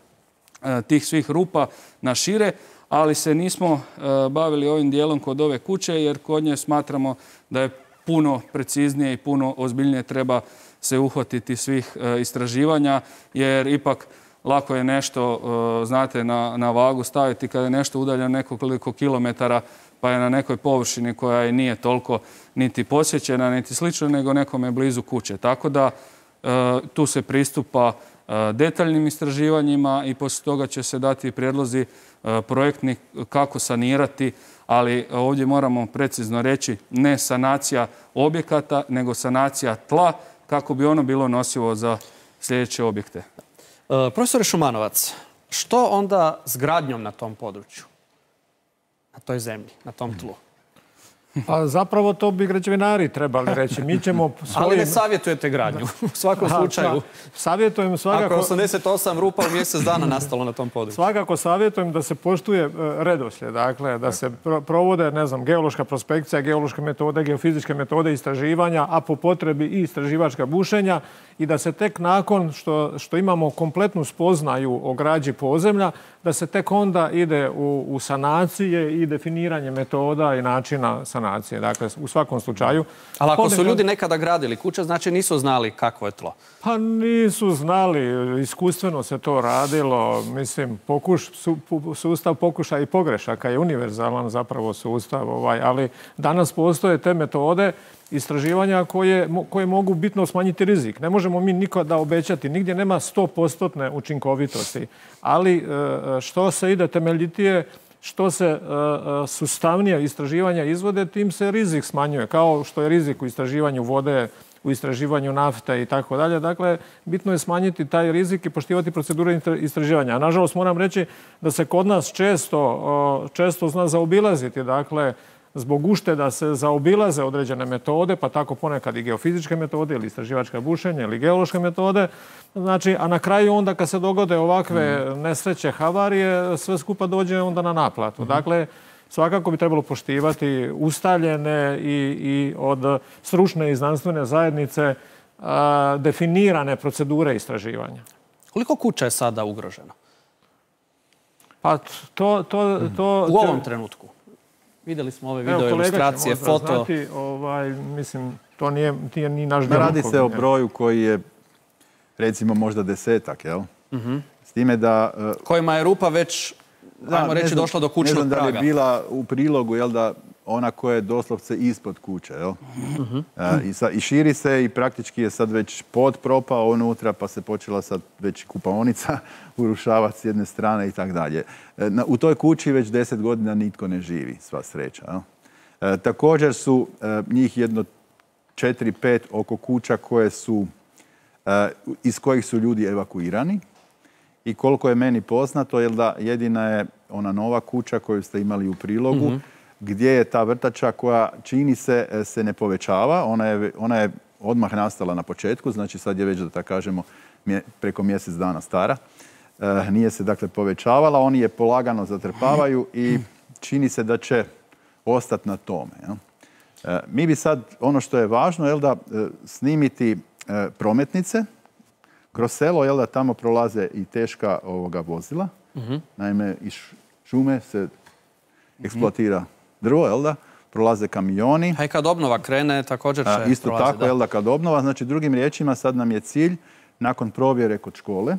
[SPEAKER 13] tih svih rupa na šire, ali se nismo bavili ovim dijelom kod ove kuće jer kod nje smatramo da je puno preciznije i puno ozbiljnije treba se uhvatiti svih istraživanja jer ipak lako je nešto, znate, na, na vagu staviti kada je nešto udaljeno nekoliko kilometara pa je na nekoj površini koja i nije toliko niti posjećena, niti slično, nego nekome blizu kuće. Tako da tu se pristupa detaljnim istraživanjima i poslije toga će se dati prijedlozi projektni kako sanirati, ali ovdje moramo precizno reći ne sanacija objekata, nego sanacija tla kako bi ono bilo nosivo za sljedeće objekte.
[SPEAKER 1] Profesore Šumanovac, što onda s gradnjom na tom području, na toj zemlji, na tom tlu?
[SPEAKER 5] Pa zapravo to bi građevinari trebali reći. Mi ćemo svojim...
[SPEAKER 1] Ali ne savjetujete gradnju, u svakom slučaju.
[SPEAKER 5] Savjetujem svakako...
[SPEAKER 1] Ako je osamdeset osam rupa u mjesec dana nastalo na tom području.
[SPEAKER 5] Svakako savjetujem da se poštuje redoslijed, dakle, da se provode, ne znam, geološka prospekcija, geološke metode, geofizičke metode istraživanja, a po potrebi i istraživačka bušenja i da se tek nakon što, što imamo kompletnu spoznaju o građi podzemlja, da se tek onda ide u, u sanacije i definiranje metoda i načina sanacije. Dakle, u svakom slučaju...
[SPEAKER 1] Ali ako su ljudi nekada gradili kuće, znači nisu znali kakvo je tlo?
[SPEAKER 5] Pa nisu znali. Iskustveno se to radilo. Mislim, pokuš, su, sustav pokušaja i pogrešaka je univerzalan zapravo sustav. Ovaj, ali danas postoje te metode istraživanja koje, koje mogu bitno smanjiti rizik. Ne možemo mi nikada obećati. Nigdje nema sto posto učinkovitosti. Ali što se ide temeljitije, što se sustavnije istraživanja izvode, tim se rizik smanjuje. Kao što je rizik u istraživanju vode, u istraživanju nafte i tako dalje. Dakle, bitno je smanjiti taj rizik i poštivati procedure istraživanja. A nažalost moram reći da se kod nas često, često zna zaobilaziti. Dakle, zbog ušteda se zaobilaze određene metode, pa tako ponekad i geofizičke metode ili istraživačka bušenja ili geološke metode. Znači, a na kraju onda kad se dogode ovakve nesreće, havarije, sve skupa dođe onda na naplatu. Dakle, svakako bi trebalo poštivati ustaljene i, i od stručne i znanstvene zajednice a, definirane procedure istraživanja.
[SPEAKER 1] Koliko kuća je sada ugroženo?
[SPEAKER 5] Pa to... to, to
[SPEAKER 1] u ovom trenutku? Vidjeli smo ove video ilustracije, foto.
[SPEAKER 5] Znati, ovaj, mislim, to nije, nije ni naš djelokrug.
[SPEAKER 14] Radi se o broju koji je, recimo, možda desetak, jel?
[SPEAKER 1] Uh-huh.
[SPEAKER 14] S time da... Uh,
[SPEAKER 1] kojima je rupa već, da, ajmo reći, znam, došla do kućnog praga.
[SPEAKER 14] Ne znam da li je bila u prilogu, jel da, ona koja je doslovce ispod kuće, jel? Uh-huh. uh, i, sa, I širi se i praktički je sad već pod propao unutra, pa se počela sad već kupaonica urušavati s jedne strane i tak dalje. U toj kući već deset godina nitko ne živi, sva sreća. Jel? Uh, također su uh, njih jedno četiri, pet oko kuća koje su, uh, iz kojih su ljudi evakuirani. I koliko je meni poznato, jel da jedina je ona nova kuća koju ste imali u prilogu, uh-huh. gdje je ta vrtača koja čini se se ne povećava. Ona je, ona je odmah nastala na početku, znači sad je već, da tako kažemo, preko mjesec dana stara. E, nije se dakle povećavala, oni je polagano zatrpavaju i čini se da će ostati na tome. Jel? E, mi bi sad, ono što je važno, jel da, snimiti e, prometnice kroz selo, jel da tamo prolaze i teška ovoga vozila. Uh-huh. Naime, iz šume se eksploatira drvo, jel da? Prolaze kamioni.
[SPEAKER 1] A i kad obnova krene, također će
[SPEAKER 14] A, isto
[SPEAKER 1] prolaze,
[SPEAKER 14] tako,
[SPEAKER 1] da.
[SPEAKER 14] jel da, kad obnova. Znači, drugim riječima, sad nam je cilj, nakon provjere kod škole,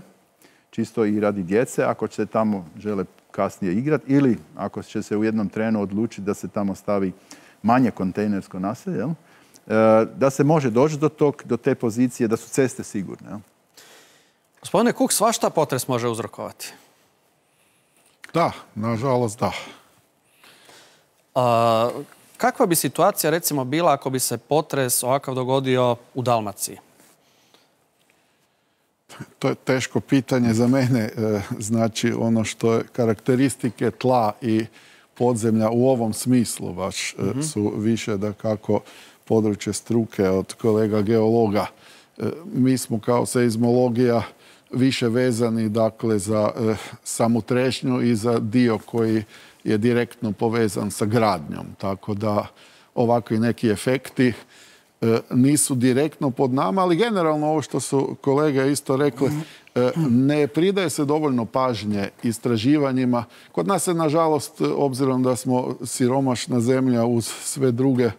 [SPEAKER 14] čisto i radi djece, ako će se tamo žele kasnije igrati, ili ako će se u jednom trenu odlučiti da se tamo stavi manje kontejnersko naselje, jel? E, da se može doći do, tog, do te pozicije, da su ceste sigurne. Jel?
[SPEAKER 1] Gospodine Kuk, svašta potres može uzrokovati?
[SPEAKER 2] Da, nažalost da.
[SPEAKER 1] A, kakva bi situacija recimo bila ako bi se potres ovakav dogodio u Dalmaciji?
[SPEAKER 2] To je teško pitanje za mene. Znači, ono što je karakteristike tla i podzemlja u ovom smislu baš mm-hmm. su više da kako područje struke od kolega geologa. Mi smo kao seizmologija više vezani dakle za e, samu trešnju i za dio koji je direktno povezan sa gradnjom. Tako da ovakvi neki efekti e, nisu direktno pod nama, ali generalno ovo što su kolege isto rekli, e, ne pridaje se dovoljno pažnje istraživanjima. Kod nas se, nažalost, obzirom da smo siromašna zemlja uz sve druge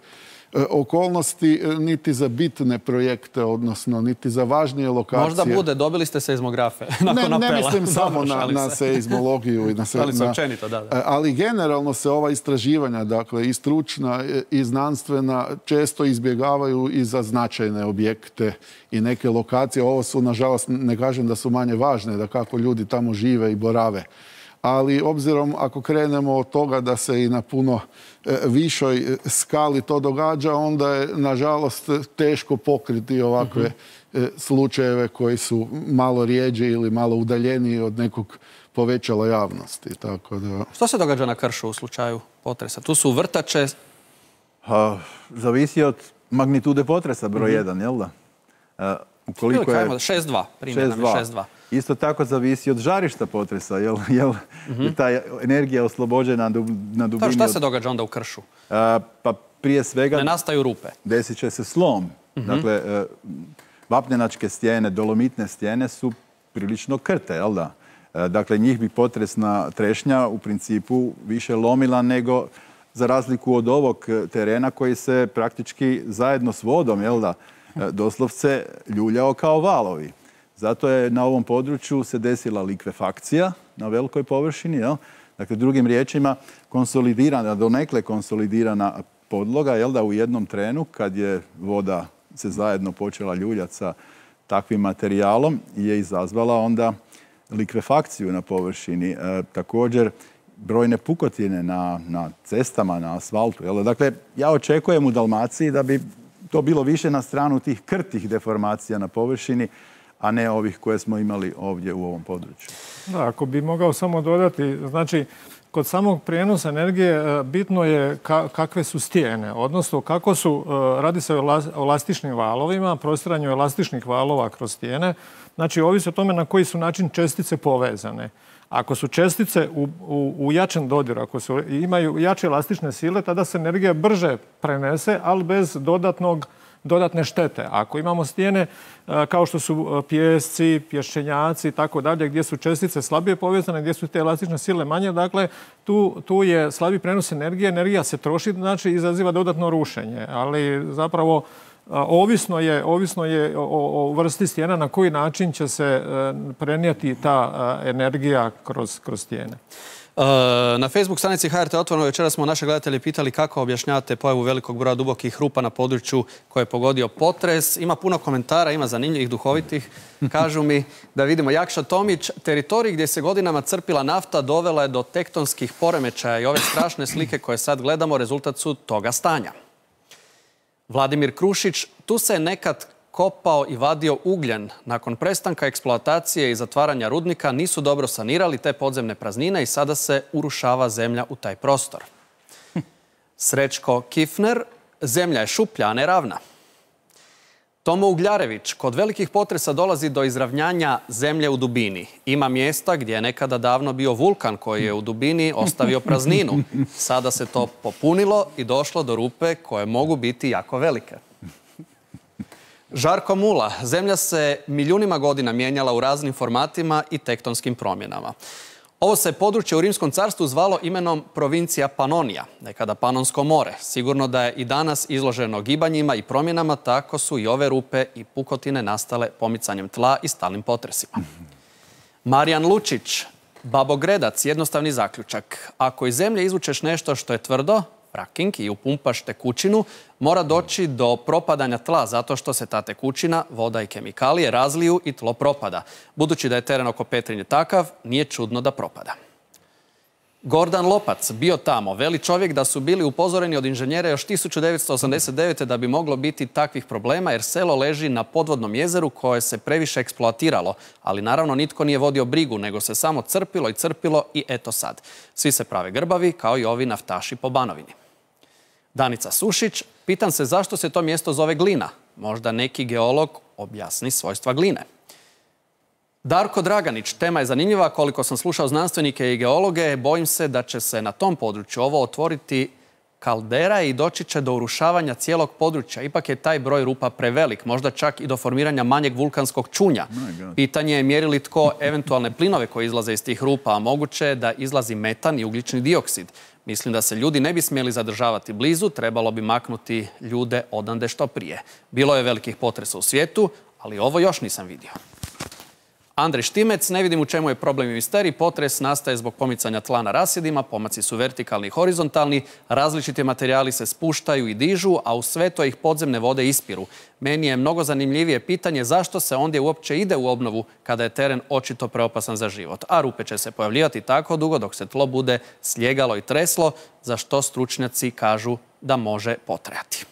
[SPEAKER 2] okolnosti, niti za bitne projekte, odnosno niti za važnije lokacije.
[SPEAKER 1] Možda bude, dobili ste seizmografe nakon apela.
[SPEAKER 2] Ne, ne mislim samo na, na seizmologiju. I na se,
[SPEAKER 1] ali se
[SPEAKER 2] na,
[SPEAKER 1] općenito, da, da.
[SPEAKER 2] Ali generalno se ova istraživanja, dakle i stručna i znanstvena, često izbjegavaju i za značajne objekte i neke lokacije. Ovo su, nažalost, ne kažem da su manje važne, da kako ljudi tamo žive i borave. Ali obzirom ako krenemo od toga da se i na puno višoj skali to događa, onda je nažalost teško pokriti ovakve mm-hmm. slučajeve koji su malo rijeđi ili malo udaljeniji od nekog povećala javnosti. Tako da...
[SPEAKER 1] Što se događa na kršu u slučaju potresa? Tu su vrtače?
[SPEAKER 14] Ha, zavisi od magnitude potresa broj mm-hmm. jedan, jel da? A, ukoliko je...
[SPEAKER 1] šest dva, primjer nam je šest dva.
[SPEAKER 14] Isto tako zavisi od žarišta potresa, jel, jel mm-hmm. je ta energija oslobođena na dubini.
[SPEAKER 1] Šta se događa onda u kršu?
[SPEAKER 14] A, pa prije svega...
[SPEAKER 1] Ne nastaju rupe.
[SPEAKER 14] Desit će se slom. Mm-hmm. Dakle, vapnenačke stijene, dolomitne stijene su prilično krte, jel da? Dakle, njih bi potresna trešnja u principu više lomila nego za razliku od ovog terena koji se praktički zajedno s vodom, jel da, doslovce ljuljao kao valovi. Zato je na ovom području se desila likvefakcija na velikoj površini. Jel? Dakle, drugim riječima, konsolidirana, donekle konsolidirana podloga, jel da, u jednom trenu kad je voda se zajedno počela ljuljati sa takvim materijalom, je izazvala onda likvefakciju na površini. E, također, brojne pukotine na, na cestama, na asfaltu. Jel? Dakle, ja očekujem u Dalmaciji da bi to bilo više na stranu tih krtih deformacija na površini, a ne ovih koje smo imali ovdje u ovom području.
[SPEAKER 5] Da, ako bi mogao samo dodati, znači, kod samog prijenosa energije bitno je ka, kakve su stijene, odnosno kako su, radi se o elastičnim valovima, prostiranju elastičnih valova kroz stijene, znači ovisi o tome na koji su način čestice povezane. Ako su čestice u, u, u jačem dodiru, ako su, imaju jače elastične sile, tada se energija brže prenese, ali bez dodatnog dodatne štete. Ako imamo stijene kao što su pijesci, pješčenjaci i tako dalje, gdje su čestice slabije povezane, gdje su te elastične sile manje, dakle, tu, tu je slabi prenos energije, energija se troši, znači izaziva dodatno rušenje. Ali zapravo ovisno je, ovisno je o, o vrsti stijena na koji način će se prenijeti ta energija kroz, kroz stijene.
[SPEAKER 1] Na Facebook stranici H R T Otvoreno večera smo naše gledatelje pitali kako objašnjavate pojavu velikog broja dubokih rupa na području koje je pogodio potres. Ima puno komentara, ima zanimljivih, duhovitih. Kažu mi da vidimo Jakša Tomić. Teritorij gdje se godinama crpila nafta dovela je do tektonskih poremećaja i ove strašne slike koje sad gledamo rezultat su toga stanja. Vladimir Krušić, tu se je nekad kopao i vadio ugljen. Nakon prestanka eksploatacije i zatvaranja rudnika nisu dobro sanirali te podzemne praznine i sada se urušava zemlja u taj prostor. Srećko Kifner, zemlja je šuplja, a ne ravna. Tomo Ugljarević, kod velikih potresa dolazi do izravnjanja zemlje u dubini. Ima mjesta gdje je nekada davno bio vulkan koji je u dubini ostavio prazninu. Sada se to popunilo i došlo do rupe koje mogu biti jako velike. Žarko Mula, zemlja se milijunima godina mijenjala u raznim formatima i tektonskim promjenama. Ovo se područje u Rimskom carstvu zvalo imenom provincija Panonija, nekada Panonsko more. Sigurno da je i danas izloženo gibanjima i promjenama, tako su i ove rupe i pukotine nastale pomicanjem tla i stalnim potresima. Marijan Lučić, babogredac, jednostavni zaključak. Ako iz zemlje izvučeš nešto što je tvrdo, fracking, i upumpaš tekućinu, mora doći do propadanja tla zato što se ta tekućina, voda i kemikalije razliju i tlo propada. Budući da je teren oko Petrinje takav, nije čudno da propada. Gordan Lopac bio tamo. Veli čovjek da su bili upozoreni od inženjera još tisuću devetsto osamdeset devete. da bi moglo biti takvih problema jer selo leži na podvodnom jezeru koje se previše eksploatiralo. Ali naravno nitko nije vodio brigu, nego se samo crpilo i crpilo i eto sad. Svi se prave grbavi kao i ovi naftaši po Banovini. Danica Sušić, pitam se zašto se to mjesto zove Glina. Možda neki geolog objasni svojstva gline. Darko Draganić, tema je zanimljiva. Koliko sam slušao znanstvenike i geologe, bojim se da će se na tom području ovo otvoriti kaldera i doći će do urušavanja cijelog područja. Ipak je taj broj rupa prevelik, možda čak i do formiranja manjeg vulkanskog čunja. Pitanje je mjeri li tko eventualne plinove koji izlaze iz tih rupa, a moguće je da izlazi metan i ugljični dioksid. Mislim da se ljudi ne bi smjeli zadržavati blizu, trebalo bi maknuti ljude odande što prije. Bilo je velikih potresa u svijetu, ali ovo još nisam vidio. Andrej Štimec, ne vidim u čemu je problem i misterij. Potres nastaje zbog pomicanja tla na rasjedima, pomaci su vertikalni i horizontalni, različiti materijali se spuštaju i dižu, a u sve to ih podzemne vode ispiru. Meni je mnogo zanimljivije pitanje zašto se ondje uopće ide u obnovu kada je teren očito preopasan za život. A rupe će se pojavljivati tako dugo dok se tlo bude slijegalo i treslo, za što stručnjaci kažu da može potrajati.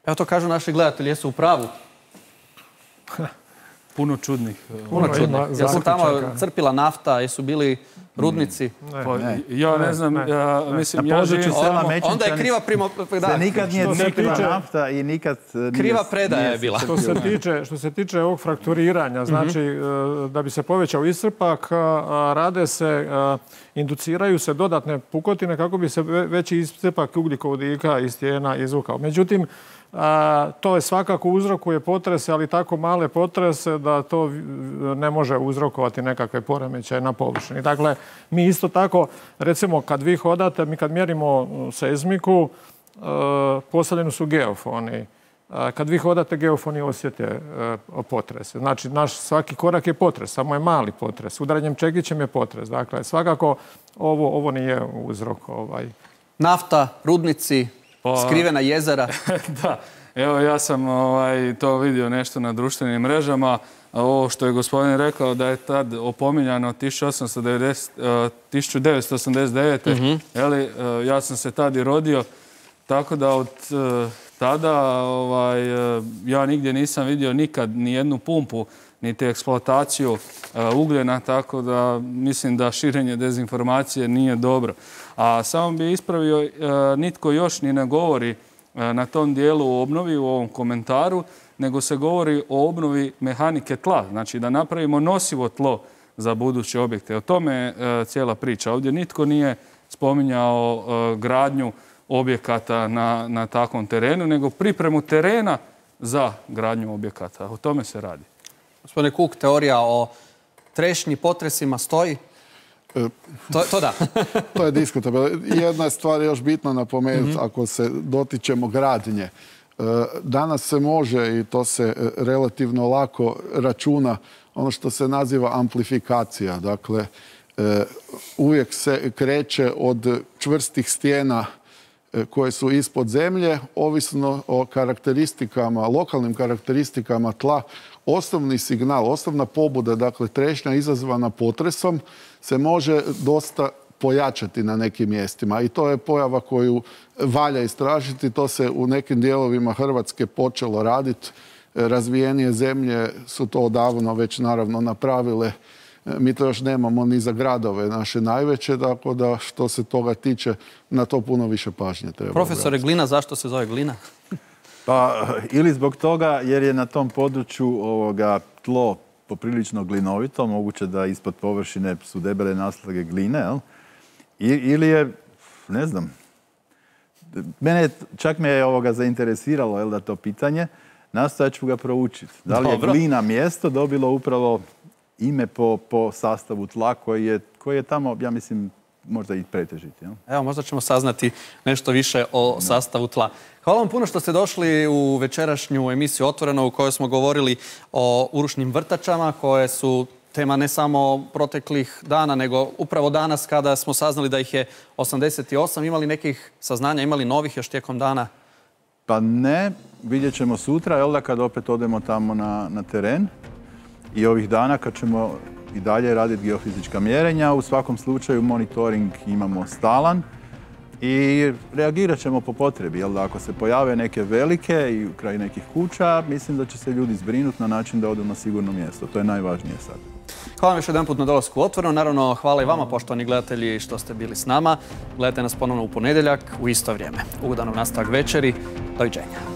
[SPEAKER 1] Evo to kažu naši gledatelji, jesu u pravu.
[SPEAKER 13] Puno čudnih.
[SPEAKER 1] Puno čudnih. Jel se tamo crpila nafta, jesu bili rudnici?
[SPEAKER 13] Ja ne znam, mislim, ja živim
[SPEAKER 14] sela
[SPEAKER 1] Mećinčani. Onda je kriva primo...
[SPEAKER 14] Se nikad nije crpila nafta i nikad...
[SPEAKER 1] Kriva predaja je bila.
[SPEAKER 5] Što se tiče ovog frakturiranja, znači da bi se povećao iscrpak, rade se, induciraju se dodatne pukotine kako bi se veći iscrpak ugljikovodika iz stijena izvukao. Međutim, to je svakako uzrokuje potrese, ali tako male potrese da to ne može uzrokovati nekakve poremećaje na površini. Dakle, mi isto tako, recimo, kad vi hodate, mi kad mjerimo seizmiku, postavljeni su geofoni. Kad vi hodate, geofoni osjete potrese. Znači, naš svaki korak je potres, samo je mali potres. Udaranjem čekićem je potres. Dakle, svakako ovo nije uzrok.
[SPEAKER 1] Nafta, rudnici, skrivena jezera.
[SPEAKER 13] Da, evo ja sam to vidio nešto na društvenim mrežama. Ovo što je gospodin rekao da je tad opominjano tisuću devetsto osamdeset devete. Ja sam se tad i rodio, tako da od tada ja nigdje nisam vidio nikad ni jednu pumpu, niti eksploataciju ugljena, tako da mislim da širenje dezinformacije nije dobro. A samo bi ispravio, nitko još ni ne govori na tom dijelu o obnovi u ovom komentaru, nego se govori o obnovi mehanike tla, znači da napravimo nosivo tlo za buduće objekte. O tome je cijela priča. Ovdje nitko nije spominjao gradnju objekata na, na takvom terenu, nego pripremu terena za gradnju objekata. O tome se radi.
[SPEAKER 1] Gospodine Kuk, teorija o trešnji potresima stoji? To, to da.
[SPEAKER 2] To je diskutabilno. Jedna stvar je još bitno napomenuti, mm-hmm. ako se dotičemo gradnje. Danas se može, i to se relativno lako računa, ono što se naziva amplifikacija. Dakle, uvijek se kreće od čvrstih stijena koje su ispod zemlje, ovisno o karakteristikama, lokalnim karakteristikama tla. Osnovni signal, osnovna pobuda, dakle trešnja izazvana potresom, se može dosta pojačati na nekim mjestima. I to je pojava koju valja istražiti. To se u nekim dijelovima Hrvatske počelo raditi. Razvijenije zemlje su to odavno već naravno napravile. Mi to još nemamo ni za gradove naše najveće, tako da što se toga tiče, na to puno više pažnje treba.
[SPEAKER 1] Profesore, Glina, zašto se zove Glina?
[SPEAKER 14] Pa, ili zbog toga jer je na tom području ovoga tlo poprilično glinovito, moguće da ispod površine su debele naslage gline, jel? I, ili je, ne znam, mene čak me je ovoga zainteresiralo, jel, da to pitanje, nastojat ću ga proučiti. Da li je
[SPEAKER 1] Dobro.
[SPEAKER 14] Glina mjesto dobilo upravo ime po, po sastavu tla koji je, koji je tamo, ja mislim, možda i pretežiti. Jel?
[SPEAKER 1] Evo, možda ćemo saznati nešto više o sastavu tla. Hvala vam puno što ste došli u večerašnju emisiju Otvoreno u kojoj smo govorili o urušnim vrtačama koje su tema ne samo proteklih dana, nego upravo danas kada smo saznali da ih je osamdeset osam. Imali nekih saznanja, imali novih još tijekom dana?
[SPEAKER 14] Pa ne, vidjet ćemo sutra, jel da, kad opet odemo tamo na, na teren. I ovih dana kad ćemo i dalje raditi geofizička mjerenja. U svakom slučaju monitoring imamo stalan i reagirat ćemo po potrebi. Jel da ako se pojave neke velike i kraj nekih kuća, mislim da će se ljudi zbrinuti na način da odu na sigurno mjesto. To je najvažnije sad.
[SPEAKER 1] Hvala vam još jedan put na dolasku u Otvoreno. Naravno, hvala i vama, poštovani gledatelji, što ste bili s nama. Gledajte nas ponovno u ponedjeljak u isto vrijeme. Ugodan nastavak večeri. Doviđenja.